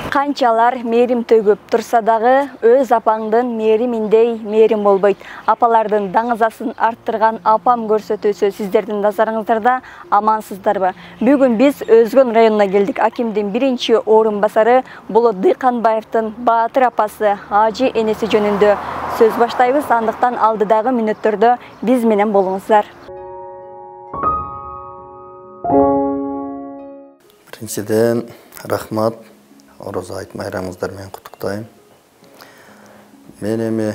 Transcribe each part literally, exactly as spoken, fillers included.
Канчалар мээрим төгүп турса дагы өз апаңдын мээриминдей мээрим болбойт. Апалардын даңызасын арттырган апам көрсөтүүсү сиздердин назарыңыздарда, амансыздарбы? Бүгүн биз Өзгөн районуна келдик. Акимдин биринчи орун басары Болот Дыйканбаевдин Баатыр апасы Ажы энеси жөнүндө сөз баштайбыз. Андыктан алдыдагы мүнөттөрдө биз менен болуңуздар. Биринчиден рахмат. Орозо айт майрамыңыздар менен куттуктайм. Мен эми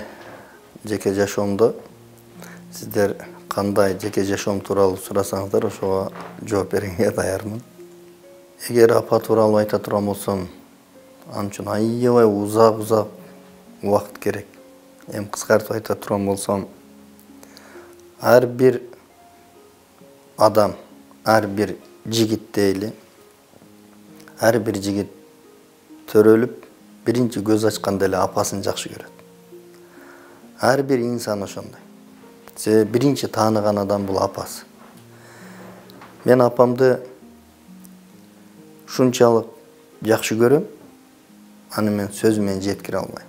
жеке жашоомдо сиздер кандай жеке жашоом тууралуу сурасаңыздар, ошого жооп бергенге даярмын. Эгер апа тууралуу айта турган болсом, ал үчүн аябай узак-узак убакыт керек. Эми кыскартып айта турган болсом, ар бир адам, ар бир жигит дейли, ар бир жигит төрөлүп, биринчи көз ачканда эле апасын жакшы көрөт. Ар бир инсан ошондой. Себеби биринчи тааныган адам бул апасы. Мен апамды ушунчалык жакшы көрөм, аны мен сөз менен жеткире албайм.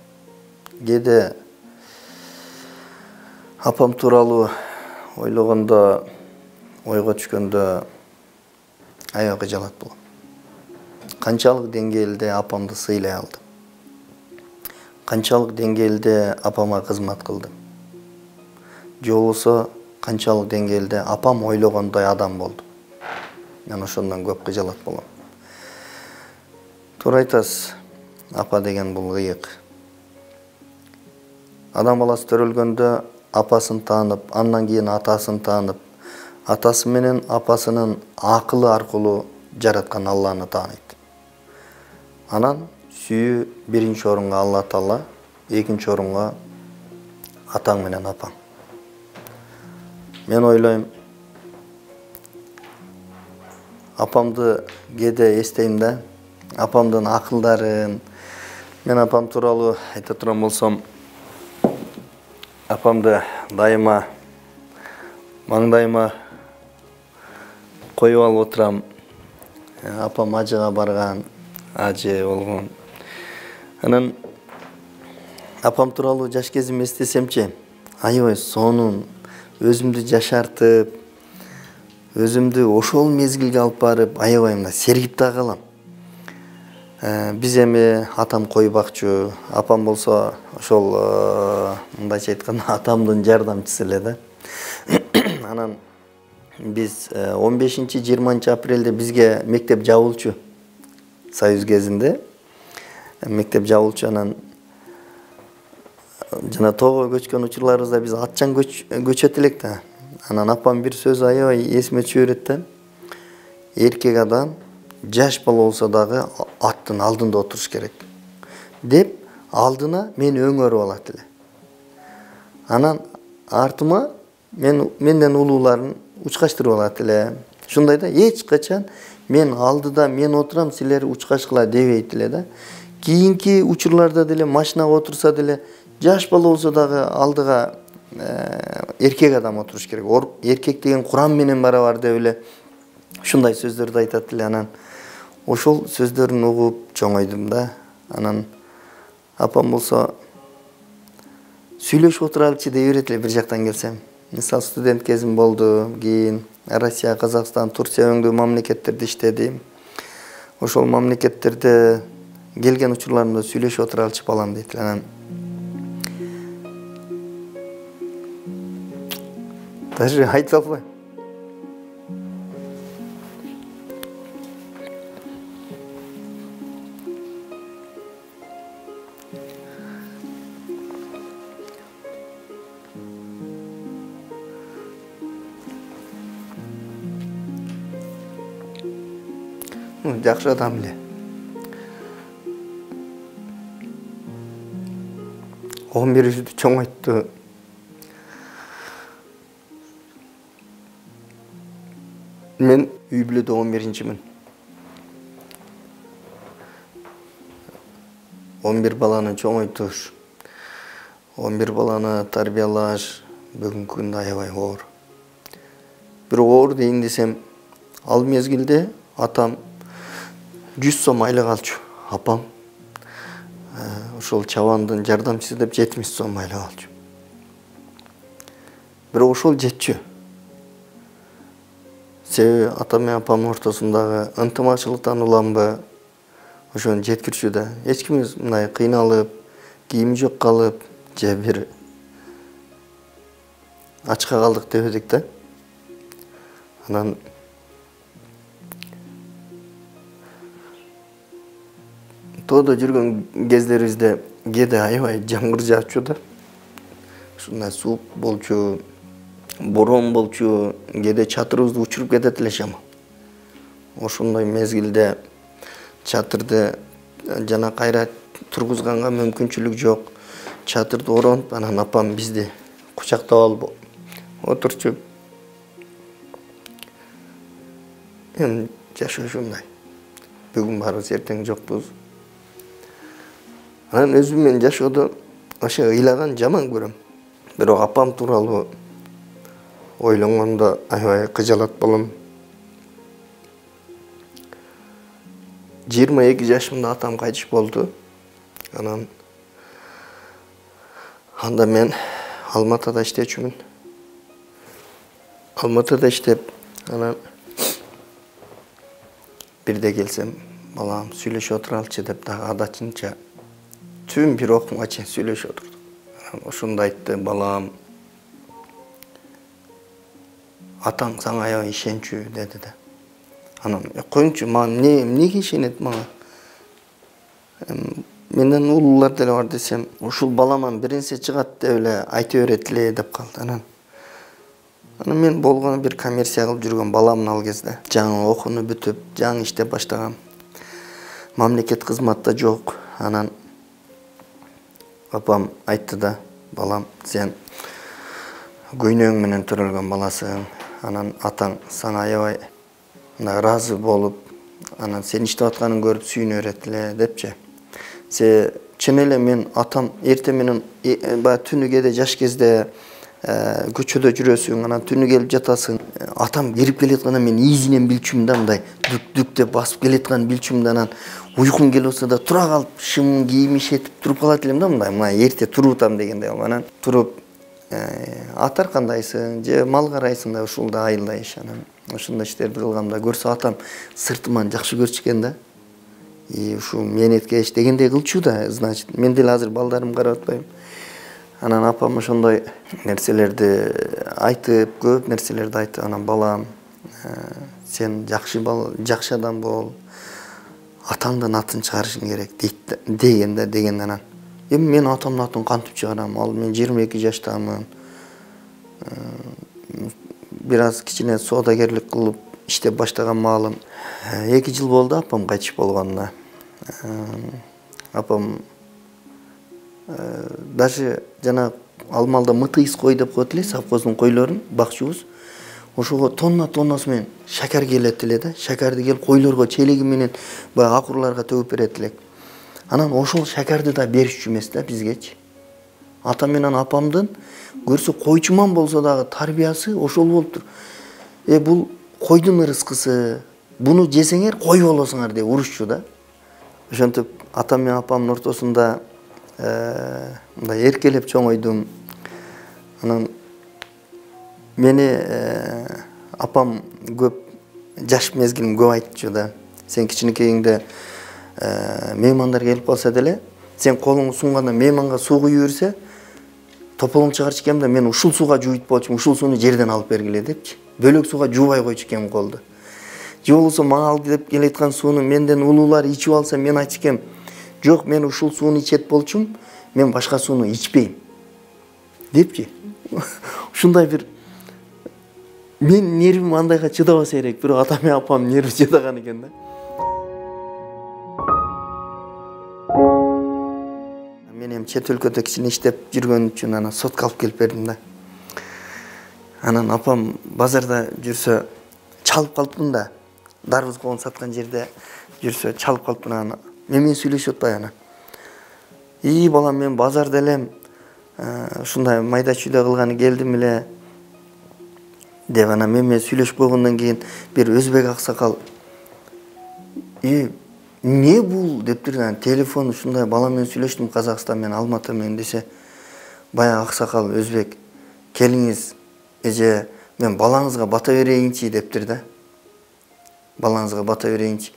Кээде апам тууралуу ойлогондо, ойго түшкөндө аябай кыжалат болом. Канчалык деңгээлде апамды сыйлай алдым. Канчалык деңгээлде апама кызмат кылдым. Же болбосо канчалык деңгээлде апам ойлогондой адам болду. Мен ошондон көп кыжалат болом. Туура айтасыз, апа деген бул кыйык. Адам баласы төрөлгөндө апасын таанып, андан кийин атасын таанып, атасы менен апасынын акылы аркылуу жараткан Алланы тааныйт. Анан сүйүү биринчи орунга Алла Таала, экинчи орунга атаң менен апаң. Мен ойлойм, апамды кээде эстейм да, апамдын акылдарын. Мен апам тууралуу айта турган болсом, апамды дайыма маңдайыма коюп алып отурам. Апам ажыга барган, ажы болгон. Анан апам тууралуу жаш кезимди эстесемчи, аябай сонун, өзүмдү жашартып, өзүмдү ошол мезгилге алып барып, аябай мына сергип да калам. Биз эми атам кой бакчу, апам болсо ошол мындайча айтканда атамдын жардамчысы эле да. Анан биз он бешинчи жыйырманчы апрелде бизге мектеп жабылчу. Союз кезинде мектеп жабылчу, анан жана тоого көчкөн учурларыбызда биз атчан көчөт элек да. Анан апам бир сөзү аябай эсиме түшө берет да. Эркек адам жаш бала болсо дагы аттын алдында отуруш керек деп, алдына мени өңөрүп алат эле. Анан артыма мен менден улууларын учкаштырып алат эле. Ушундай да, эч качан мен алдыда мен отурам, силер учкашкыла дебейт эле да. Кийинки учурларда деле машинага отурса деле, жаш бала болсо дагы алдыга эркек адам отуруш керек. Эркек деген курам менен барабар деп эле ушундай сөздөрдү айтат эле. Анан ошол сөздөрүн угуп чоңойдум да. Анан апам болсо сүйлөшүп отуралычы дей берет эле бир жактан келсем. Мисалы студент кезим болду, кийин Россия, Казакстан, Турция өңдүү мамлекеттерде иштедим. Ошол мамлекеттерде келген учурларымда сүйлөшүп отуралычы балам дейт. Анан даже айта албайм. Жакшы адам эле. он бирибизди чоңойтту. Мен үй бүлөдө он биринчимин. он бир баланы чоңойтуш, он бир баланы тарбиялаш бүгүнкү күндө аябай оор. Бирок оор дейин десем, ал мезгилде атам жүз сом айлык алчу. Апам ошол чабандын жардамчысы деп жетимиш сом айлап алчу. Бирок ошол жетчү. Себеби ата менен апамдын ортосундагы ынтымакчылыктан уламбы ошону жеткирчү да. Эч кимибиз мындай кыйналып, кийими жок калып, же бир ачка калдык дебедик да. Анан тоодо жүргөн кездерибизде кээде аябай жамгыр жаачу да. Ушундай суук болчу, борон болчу, кээде чатырыбызды учуруп кетет эле шамал. Ошондой мезгилде чатырды жана кайра тургузганга мүмкүнчүлүк жок. Чатырды оронуп, анан апам бизди кучактап алып отурчу. Эми жашоо ушундай. Бүгүн барбыз, эртең жокпуз. Анан өзүм менен жашоодо ошо ыйлаган жаман көрөм. Бирок апам тууралуу ойлонгондо аябай кыжалат болом. жыйырма эки жашымда атам кайтыш болду. Анан анда мен Алматыда иштечүмүн. Алматыда иштеп, анан бирде келсем, балам сүйлөшүп отуралычы деп дагы адатчынча түн бир окумга чейин сүйлөшүп отурдук. Анан ошондо айтты, балам, атаң сага аябай ишенчү деди да. Анан коюңчу, мага эмне эмнеге ишенет мага? Менден улуулар деле бар десем, ушул баламан бир нерсе чыгат деп эле айта берет эле деп калды. Анан Анан мен болгону бир коммерция кылып жүргөн баламын ал кезде. Жаңы окууну бүтүп, жаңы иштеп баштагам. Мамлекет кызматта жок. Анан апам айтты да, балам, сен көйнөң менен төрөлгөн баласың. Анан атаң сага аябай ыраазы болуп, анан сен иштеп атканын көрүп сүйүнө берет эле депчи. Се чын эле мен атам эрте менен баягы түнү кээде жаш кезде көчөдө жүрөсүң, анан түнү келип жатасың. Атам кирип келетканда мен ийизинен билчүмүн да, мындай дүк-дүк деп басып келетканын билчүмүн да, анан уйкум келип атса да тура калып, шымын кийим ишетип туруп калат элем да, мындай, мына эрте турутам дегенде. Анан туруп атар кандайсың, же мал карайсың да, ушулда айылда иш. Анан ошондой иштерди кылгамда көрсө атам сыртыман жакшы көрчү экен да. И ушул мээнеткеч дегендей кылчу да, значит, мен деле азыр балдарым карап атпайм. Анан апам ошондой нерселерди айтып, көп нерселерди айтты. Анан балам, сен жакшы бала, жакшы адам бол. Атаңдын атын чыгарышың керек дейт деген да, деген анан. Эми мен атамдын атын кантип чыгарам? Ал мен жыйырма эки жаштамын. Бир аз кичине соодагерлик кылып иштеп баштаган маалым. эки жыл болду апам кайтыш болгонуна. Апам даже жана Алмалда мытыйс кой деп коет эле, совхоздун койлорун бакчыбыз. Ошого тонна тоннасы менен шакар келет эле да. Шакарды келип койлорго челеги менен баягы акурларга төгүп берет элек. Анан ошол шакарды да беришчү эмес да бизгечи. Ата менен апамдын көрсө койчуман болсо дагы тарбиясы ошол болуптур. Э бул койдун ырыскысы, буну жесеңер кой болосуңар деп урушчу да. Ошентип ата менен апамдын ортосунда мындай эркелеп чоңойдум. Анан мени апам көп жаш мезгилин көп айтчу да. Сен кичинекейиңде меймандар келип калса деле, сен колуңду сунганда мейманга суу куюп берсе, тополоң чыгарчу экем да, мен ушул сууга жууйт болчумун, ушул сууну жерден алып бергиле депчи. Бөлөк сууга жуубай койчу экем колду. Же болбосо мага ал деп келеткан сууну менден улуулар ичип алса, мен айтчу экем, жок, мен ушул сууну ичет болчум, мен башка сууну ичпейм депчи. Ушундай бир мен нервим андайга чыдабаса керек, бирок ата менен апам нерви чыдаган экен да. Мен эми чет өлкөдө кичине иштеп жүргөн үчүн анан сотко алып келип бердим да. Анан апам базарда жүрсө чалып калыптын да. Дарбыз коон саткан жерде жүрсө чалып калыптын, анан мен менен сүйлөшүп атпай анан. И балам, мен базарда элем, ушундай майда чүйдө кылганы келдим эле деп анан мен менен сүйлөшүп койгондон кийин бир өзбек аксакал, и эмне бул дептир, телефон ушундай бала менен сүйлөштүм Казакстан менен, Алматы менен десе, баягы аксакал өзбек, келиңиз эже, мен балаңызга бата берейинчи дептир да. Балаңызга бата берейинчи.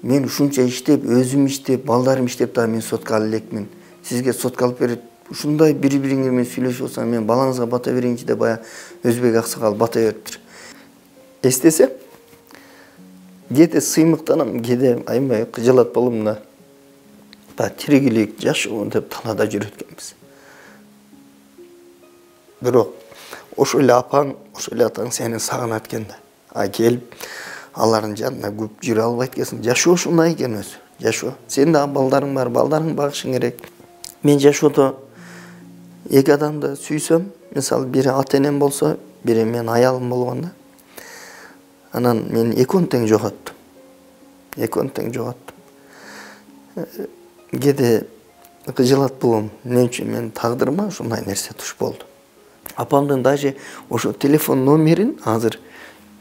Мен ушунча иштеп, өзүм иштеп, балдарым иштеп да мен сотко ала элекмин. Сизге сотко алып берет. Ушундай бири-бириңер менен сүйлөшүп атсаң, мен балаңызга бата берейинчи деп баягы өзбек аксакал бата бериптир. Эстесем, кээде сыймыктанам, кээде аябай кыжалат болом да. Ба тиригилик, жашоо деп талаада жүрөт экенбиз. Бирок ошол эле апаң, ошол эле атаң сени сагынат экен да. А келип алардын жанына көп жүрө албайт экенсиң. Жашоо ушундай экен өзү. Жашоо. Сен да балдарың бар, балдарыңды багышың керек. Мен жашоодо эки адамды сүйсөм, мисалы бири ата-энем болсо, бири менин аялым болгондо, анан мен экөөнү тең жоготтум. Экөөнү тең жоготтум. Кээде кыжалат болом. Эмне үчүн мен тагдырыма ушундай нерсе туш болду. Апамдын даже ошо телефон номерин азыр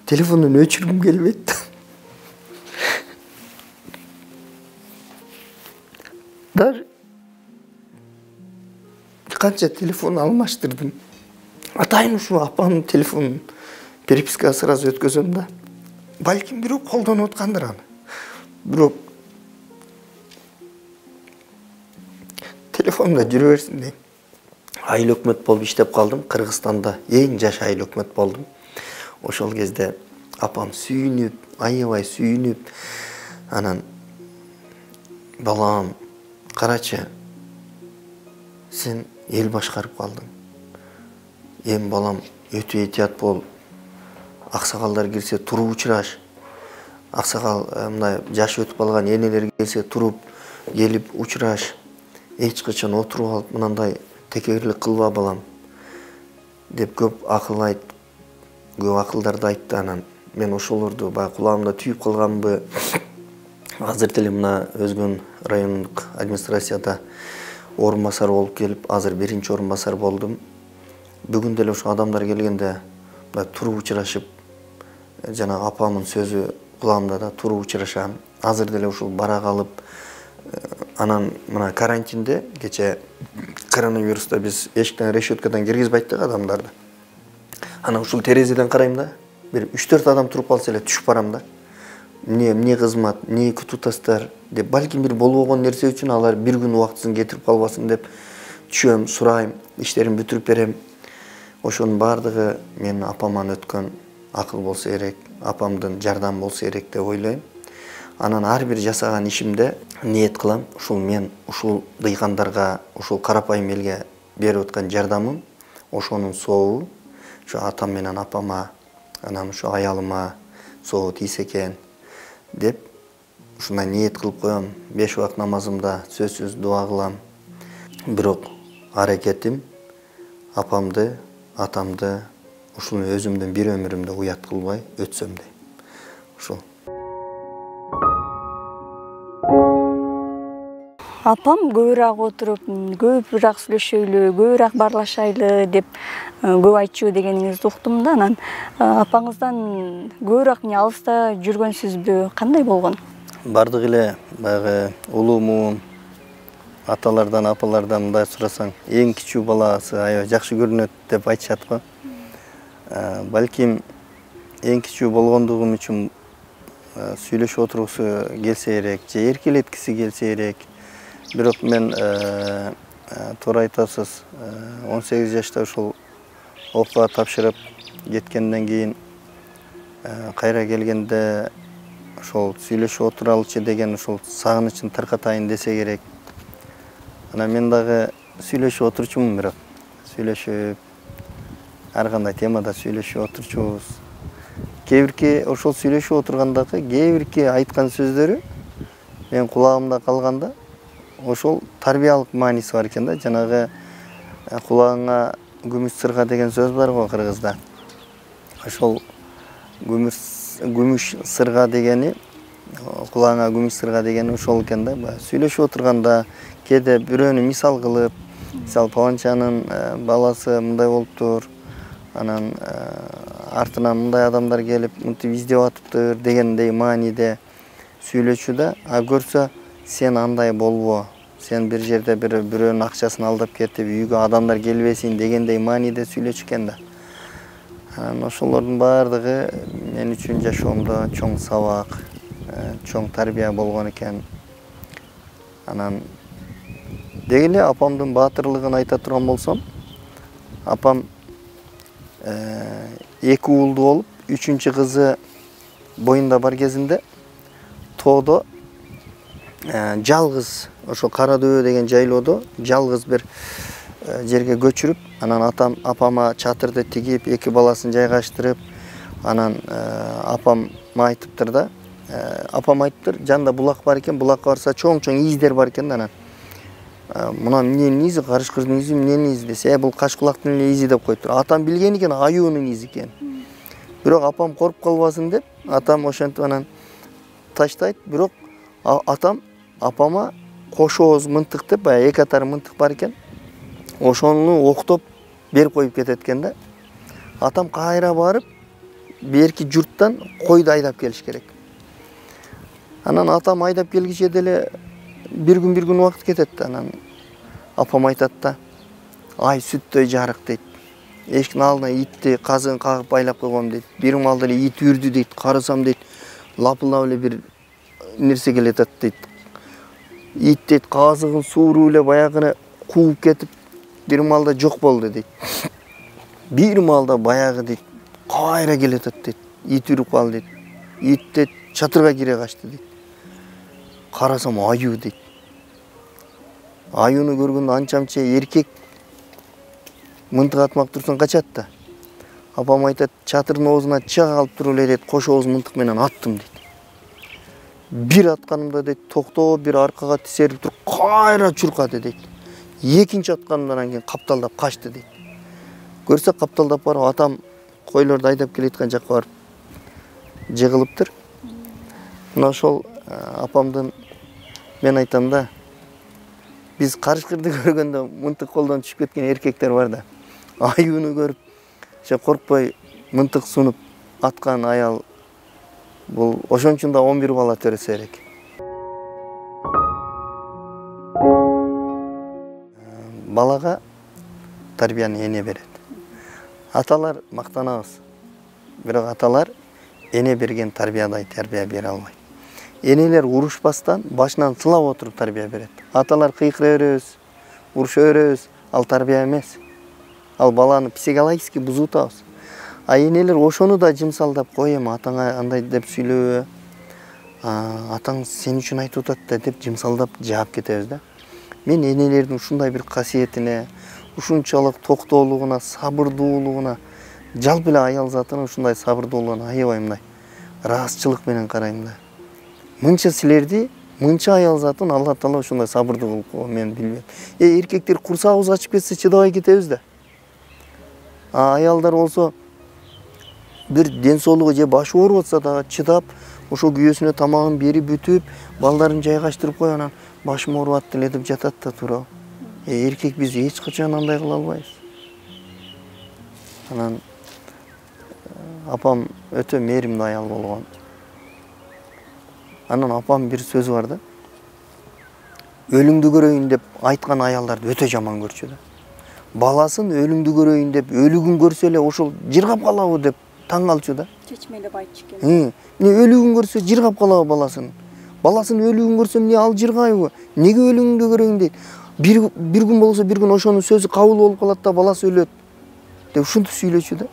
телефондон өчүргүм келбейт. Даже канча телефон алмаштырдым. Атайын ушу апамдын телефонун перепискага сразу өткөзөм да. Балким бирөө колдонуп аткандыр аны. Бирок телефонда жүрө берсин дейм. Айыл өкмөт болуп иштеп калдым. Кыргызстанда эң жаш айыл өкмөт болдум. Ошол кезде апам сүйүнүп, аябай сүйүнүп, анан балам, карачы, сен эл башкарып калдың. Эми балам, өтө этият бол. Аксакалдар келсе туруп учураш. Аксакал мындай жаш өтүп калган энелер келсе туруп, келип учураш. Эч качан отуруп алып мындай текегирлик кылба балам деп көп акыл айт, көп акылдарды айтты. Анан мен ошолорду баягы кулагымда түйүп калганбы. Азыр деле мына Өзгөн райондук администрацияда орун басар болуп келип, азыр биринчи орун басар болдум. Бүгүн деле ошо адамдар келгенде туруп учурашып, жана апамдын сөзү кулагымда да туруп учурашам. Азыр деле ушул бара калып, анан мына карантинде кече коронавируста биз эшиктен решеткадан киргизбейт да адамдарды. Анан ушул терезеден карайм да, бир үч төрт адам туруп калса эле түшүп барам да. Эмне, эмне кызмат, эмне күтүп деп, балким бир болбогон нерсе үчүн алар бир күн убактысын кетирип калбасын деп түшөм, сурайм, иштерин бүтүрүп берем. Ошонун баардыгы менин апаман өткөн акыл болсо керек, апамдын жардам болсо керек деп ойлойм. Анан ар бир жасаган ишимде ниет кылам, ушул мен ушул дыйкандарга, ушул карапайым элге берип аткан жардамым, ошонун сообу ушу атам менен апама, анан ушу аялыма сообу тийсе экен деп ушундай ниет кылып коем. Беш убак намазымда сөзсүз дуа кылам. Бирок аракетим апамды, атамды ушул өзүмдүн бир өмүрүмдө уят кылбай өтсөм дейм. Ушул. Апам көбүрөөк отуруп, көбүрөөк сүйлөшөйлү, көбүрөөк баарлашайлы деп көп айтчу дегениңизди уктум да. Анан апаңыздан көбүрөөк эмне алыста жүргөнсүзбү? Кандай болгон? Бардык эле баягы улуумун, аталардан, апалардан мындай сурасаң, эң кичүү баласы аябай жакшы көрүнөт деп айтышат го. Балким эң кичүү болгондугум үчүн сүйлөшүп отургусу келсе керек, же эркелеткиси келсе керек. Бирок мен туура айтасыз, он сегиз жашта ушул окууга тапшырып кеткенден кийин кайра келгенде ошол сүйлөшүп отуралычы деген ушул сагынычын таркатайын десе керек. Анан мен дагы сүйлөшүп отурчумун, бирок сүйлөшүп ар кандай темада сүйлөшүп отурчубуз. Кээ бирки ошол сүйлөшүп отургандагы кээ бирки айткан сөздөрү мен кулагымда калганда ошол тарбиялык мааниси бар экен да. Жанагы кулагыңа күмүш сырга деген сөз бар го кыргызда. Ошол күмүш сырга дегени, кулагыңа күмүш сырга дегени ошол экен да. Сүйлөшүп отурганда кээде бирөөнү мисал кылып, мисал паланчанын баласы мындай болуптур, анан артынан мындай адамдар келип мынтип издеп атыптыр дегендей мааниде сүйлөчү да, а көрсө сен андай болбо, сен бир жерде бир бирөөнүн акчасын алдап кетип үйгө адамдар келбесин дегендей мааниде сүйлөчү экен да. Анан ошолордун баардыгы мен үчүн жашоомдо чоң сабак, чоң тарбия болгон экен. Анан деги эле апамдын баатырлыгын айта турган болсом, апам эки уулду болуп, үчүнчү кызы боюнда бар кезинде тоодо жалгыз ошо Кара Дөбө деген жайлоодо жалгыз бир жерге көчүрүп, анан атам апама чатырды тигип, эки баласын жайгаштырып, анан апам айтыптыр да, апам айтыптыр, жанында булак бар экен, булакка барса чоң-чоң издер бар экен да, анан мына эмненин изи, карышкырдын изи, эмненин изи десе, бул качкулактын эле изи деп коюптур. Атам билген экен, аюунун изи экен. Бирок апам коруп калбасын деп, атам ошентип анан таштайт. Бирок атам апама кош ооз мынтык деп, баягы эки атар мынтык бар экен. Ошону октоп берип коюп кетет экен да. Атам кайра барып, берки журттан койду айдап келиш керек. Анан атам айдап келгиче деле бир күн бир күн убакыт кетет да. Анан апам айтат да, ай сүттөй жарык дейт. Эшиктин алдына итти казыгын кагып байлап койгом дейт. Бир маалда эле ит үрдү дейт. Карасам дейт, лапылдап эле бир нерсе келатат дейт. Ит дейт казыгын сууруп эле баягыны кууп кетип, бир маалда жок болду дейт. Бир маалда баягы дейт, кайра келатат дейт. Ит үрүп калды дейт. Ит дейт чатырга кире качты дейт. Карасам аюу дейт. Аюуну көргөндө анча-мынча эркек мынтык атмак турсун качат да. Апам айтат, чатырдын оозуна чыга калып туруп эле дейт, кош ооз мынтык менен аттым дейт. Бир атканымда дейт, токтоп бир аркага тисерип туруп, кайра чуркады дейт. Экинчи атканымдан анан капталдап качты дейт. Көрсө капталдап барып, атам койлорду айдап келаткан жакка барып жыгылыптыр. Мына ошол апамдын, мен айтам да, биз карышкырды көргөндө мынтык колдон түшүп кеткен эркектер бар да. Аюуну көрүп, ошо коркпой мынтык сунуп аткан аял, бул ошон үчүн да он бир бала төрөсө керек. Балага тарбияны эне берет. Аталар мактанабыз. Бирок аталар эне берген тарбиядай тарбия бере албайт. Энелер урушпастан башынан сылап отуруп тарбия берет. Аталар кыйкыра беребиз, уруша беребиз, ал тарбия эмес. Ал баланы психологически бузутабыз. А энелер ошону да жымсалдап, кой эми атаңа андай деп сүйлөбө, атаң сен үчүн айтып атат да деп жымсалдап жаап кетебиз да. Мен энелердин ушундай бир касиетине, ушунчалык токтоолугуна, сабырдуулугуна, жалпы эле аял затына ушундай сабырдуулугуна аябай мындай ыраазычылык менен карайм да. Мынча силерди, мынча аял затын Алла Таала ушундай сабырдуу кылып койгон, мен билбейм. Э эркектер курсагыбыз ачып кетсе чыдабай кетебиз да. А аялдар болсо бир ден соолугу же башы ооруп атса дагы чыдап, ошо күйөөсүнө тамагын берип бүтүп, балдарын жайгаштырып коюп, анан башым ооруп атты эле деп жатат да туурабы. Э эркек биз эч качан андай кыла албайбыз. Анан апам өтө мээримдүү аял болгон. Анан апам бир сөзү бар да. Өлүңдү көрөйүн деп айткан аялдарды өтө жаман көрчү да. Баласын өлүңдү көрөйүн деп өлүгүн көрсө эле ошол жыргап калабы деп таң калчу да. Чечмелеп айтчу экен. Эмне өлүгүн көрсө жыргап калабы баласын. Баласын өлүгүн көрсө эмне ал жыргайбы? Неге өлүңдү көрөйүн дейт. Бир бир күн болсо бир күн ошонун сөзү кабыл болуп калат да, баласы өлөт деп ушинтип сүйлөчү да.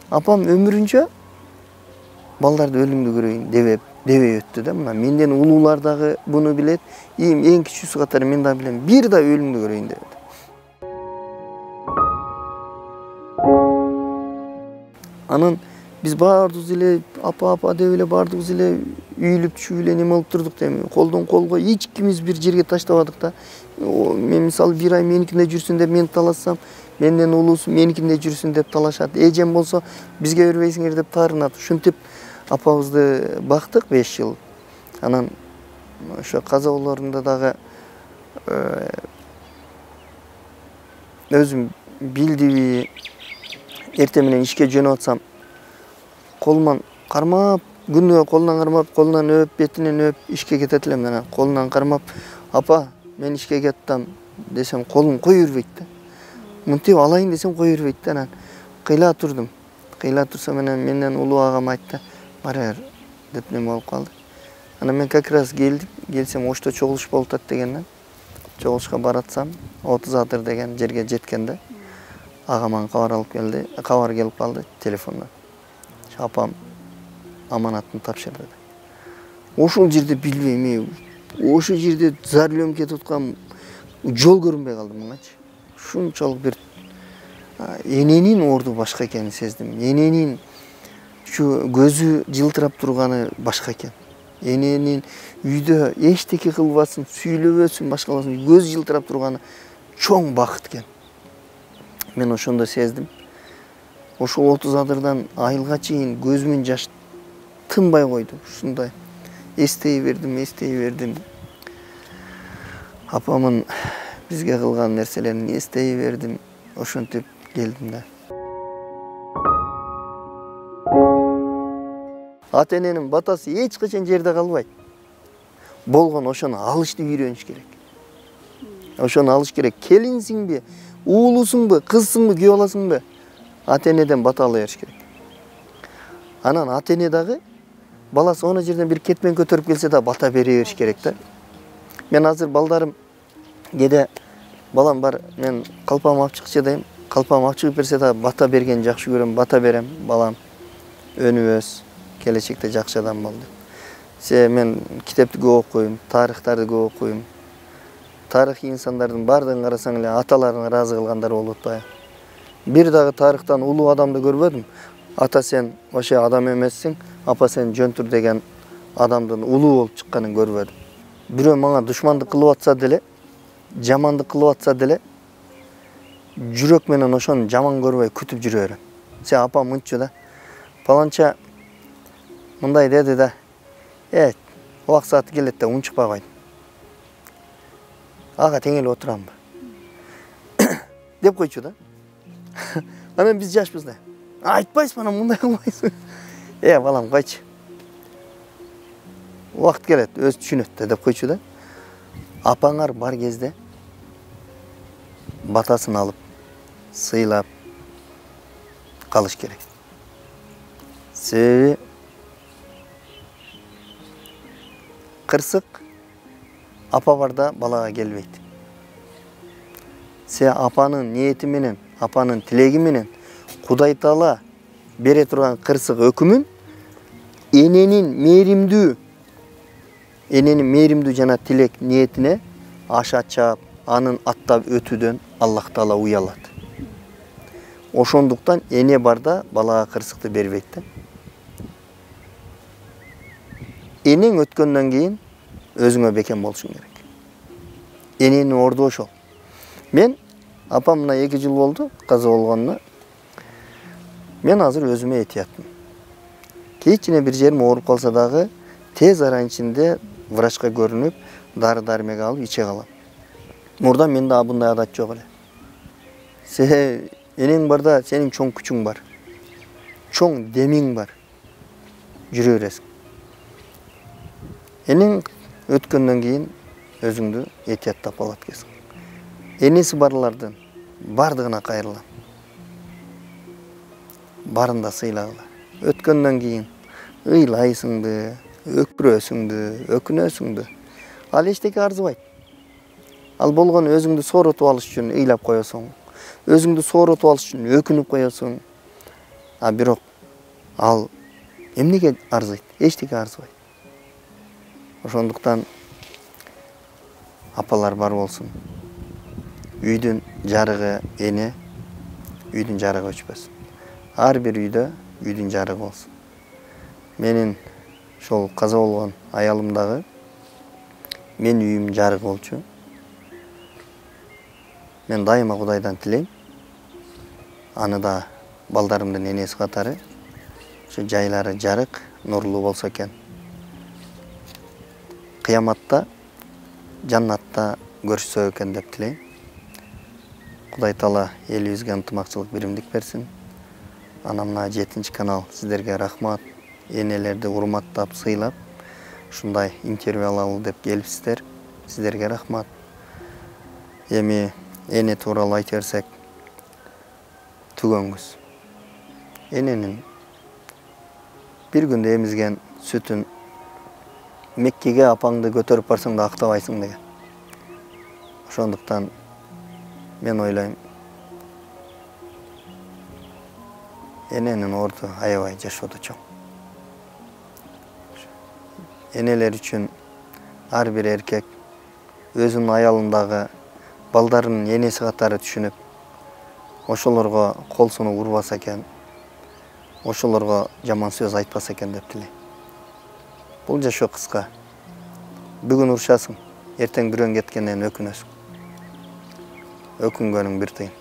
Апам өмүрүнчө балдарды өлүңдү көрөйүн дебеп дебей өттү да. Мына менден улуулар дагы буну билет. Эң эң кичүүсү катары мен да билем. Бир да өлүңдү көрөйүн деп. Анан биз баардыгыбыз эле апа апа деп эле баардыгыбыз эле үйүлүп түшүп эле неме болуп турдук да. Колдон колго эч кимибиз бир жерге таштабадык да. Мен мисалы бир ай меникинде жүрсүн деп мен талашсам, менден улуусу меникинде жүрсүн деп талашат. Эжем болсо бизге бербейсиңер деп таарынат. Ушинтип апабызды бактык беш жыл. Анан ошо каза болорунда дагы өзүм билдиби, эртең менен ишке жөнөп атсам, колуман кармап күнүгө колунан кармап, колунан өп, бетинен өп, ишке кетет элем. Анан колунан кармап, апа, мен ишке кеттим десем, колун кое бербейт да. Мынтип алайын десем кое бербейт да. Анан кыйла турдум. Кыйла турсам анан менден улуу агам айтты, бара бер деп неме болуп калды. Анан мен как раз келдим, келсем ошто чогулуш болуп атат дегенден. Чогулушка баратсам, отуз адыр деген жерге жеткенде агаман кабар алып келди, кабар келип калды телефондон. Апам аманатын тапшырды. Ошол жерде билбейм, ошол жерде зарлөнүп кетип аткам, жол көрүнбөй калды маңачы. Ушунчалык бир эненин орду башка экенин сездим. Эненин ушу көзү жылтырап турганы башка экен. Эненин үйдө эчтеке кылбасын, сүйлөбөсүн, башкаласын, көз жылтырап турганы чоң бакыт экен. Мен ошондо сездим. Ошол отуз адырдан айылга чейин көзүмүн жаш тынбай койду. Ушундай эстей бердим, эстей бердим. Апамын бизге кылган нерселерин эстей бердим. Ошентип келдим да. Ата эненин батасы эч качан жерде калбайт. Болгон ошону алышты үйрөнүш керек. Ошону алыш керек. Келинсиңби, уулусуңбу, кызсыңбы, күйөө аласыңбы? Ата энеден бата ала бериш керек. Анан ата эне дагы баласы она жерден бир кетмен көтөрүп келсе да бата бере бериш керек да. Мен азыр балдарым кээде балам бар, мен калпам алып чыкчы дейм. Калпам алып чыгып берсе да бата бергенди жакшы көрөм, бата берем. Балам өнүбөс, келечекте жакшы адам бол деп. Се мен китепти көп окуйм, тарыхтарды көп окуйм. Тарыхый инсандардын бардыгын карасаң эле аталарын ыраазы кылгандар болуп атпайбы? Бир дагы тарыхтан улуу адамды көрбөдүм. Ата сен вообще адам эмессиң, апа сен жөнтүр деген адамдын улуу болуп чыкканын көрбөдүм. Бирөө мага душмандык кылып атса деле, жамандык кылып атса деле, жүрөк менен ошону жаман көрбөй күтүп жүрө берем. Се апам мынчу да. Паланча мындай деди да. Э, убак сааты келет да унчукпай койдум. Ага тең эле отурамбы? деп койчу да. Анан биз жашпыз да. Айтпайсың, анан мындай кылбайсың. Э, балам, койчу. Убакыт келет, өзү түшүнөт да деп койчу да. Апаңар бар кезде батасын алып, сыйлап калыш керек. Себеби кырсык апа барда балага келбейт. Се апанын ниети менен, апанын тилеги менен Кудай Таала бере турган кырсык өкүмүн эненин мээримдүү, эненин мээримдүү жана тилек ниетине аша чаап, анын аттап өтүүдөн Аллах Таала уялат. Ошондуктан эне барда балага кырсыкты бербейт да. Энең өткөндөн кийин өзүңө бекем болушуң керек. Эненин орду ошол. Мен апам мына эки жыл болду каза болгонуна. Мен азыр өзүмө этиятмын. Кичине бир жерим ооруп калса дагы тез аранын ичинде врачка көрүнүп, дары-дармек алып иче калам. Мурда менде абындай адат жок эле. Се энең барда сенин чоң күчүң бар. Чоң демиң бар. Жүрө бересиң. Энең өткөндөн кийин өзүңдү этияттап алат экенсиң. Энеси барлардын бардыгына кайрылам. Барын да сыйлагыла. Өткөндөн кийин ыйлайсыңды, өкүрөсүңдү, өкүнөсүңдү. Ал эчтеке арзыбайт. Ал болгон өзүңдү сооротуп алыш үчүн ыйлап коесуң. Өзүңдү сооротуп алыш үчүн өкүнүп коесуң. А бирок ал эмнеге арзыйт? Эчтеке арзыбайт. Ошондуктан апалар бар болсун. Үйдүн жарыгы эне, үйдүн жарыгы өчпөсүн. Ар бир үйдө үйдүн жарыгы болсун. Менин ошол каза болгон аялым дагы мен үйүм жарык болчу. Мен дайыма Кудайдан тилейм. Аны да балдарымдын энеси катары ошо жайлары жарык, нурлуу болсо экен. Кыяматта, жаннатта көрүшсө экен деп тилейм. Кудай Таала элибизге ынтымакчылык, биримдик берсин. Ана мына жетинчи канал сиздерге рахмат. энелерди урматтап, сыйлап, ушундай интервью алалы деп келипсиздер. Сиздерге рахмат. Эми эне тууралуу айта берсек, түгөнгүз. Эненин бир күндө эмизген сүтүн Меккеге апаңды көтөрүп барсаң да актабайсың деген. Ошондуктан мен ойлойм, эненин орду аябай жашоодо чоң. Энелер үчүн ар бир эркек өзүнүн аялындагы балдарынын энеси катары түшүнүп, ошолорго кол сунуп урбаса экен, ошолорго жаман сөз айтпаса экен деп тилейм. Бул жашоо кыска. Бүгүн урушасың, эртең бирөң кеткенден өкүнөсүң. Өкүнгөнүң бир тыйын.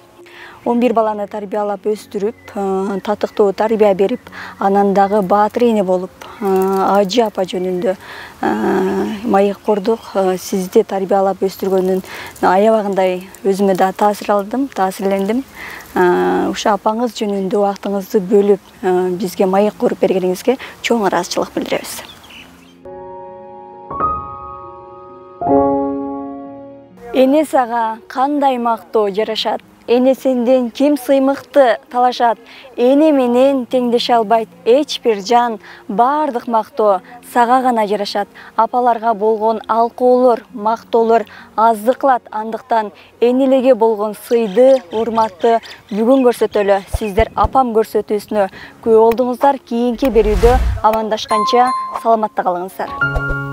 он бир баланы тарбиялап өстүрүп, татыктуу тарбия берип, анан дагы баатыр эне болуп, ажы апа жөнүндө маек курдук. Сизди тарбиялап өстүргөнүн аябагындай өзүмө да таасир алдым, таасирлендим. Ушул апаңыз жөнүндө убактыңызды бөлүп, бизге маек куруп бергениңизге чоң ыраазычылык билдиребиз. Эне сага кандай мактоо жарашат? Эне сенден ким сыймыкты талашат? Эне менен теңдеше албайт эч бир жан. Бардык мактоо сага гана жарашат. Апаларга болгон алкоолор, мактоолор аздык кылат. Андыктан энелерге болгон сыйды, урматты бүгүн көрсөтөлү. Сиздер апам көрсөтүүсүнө күбө болдуңуздар. Кийинки берүүдө амандашканча саламатта калыңыздар.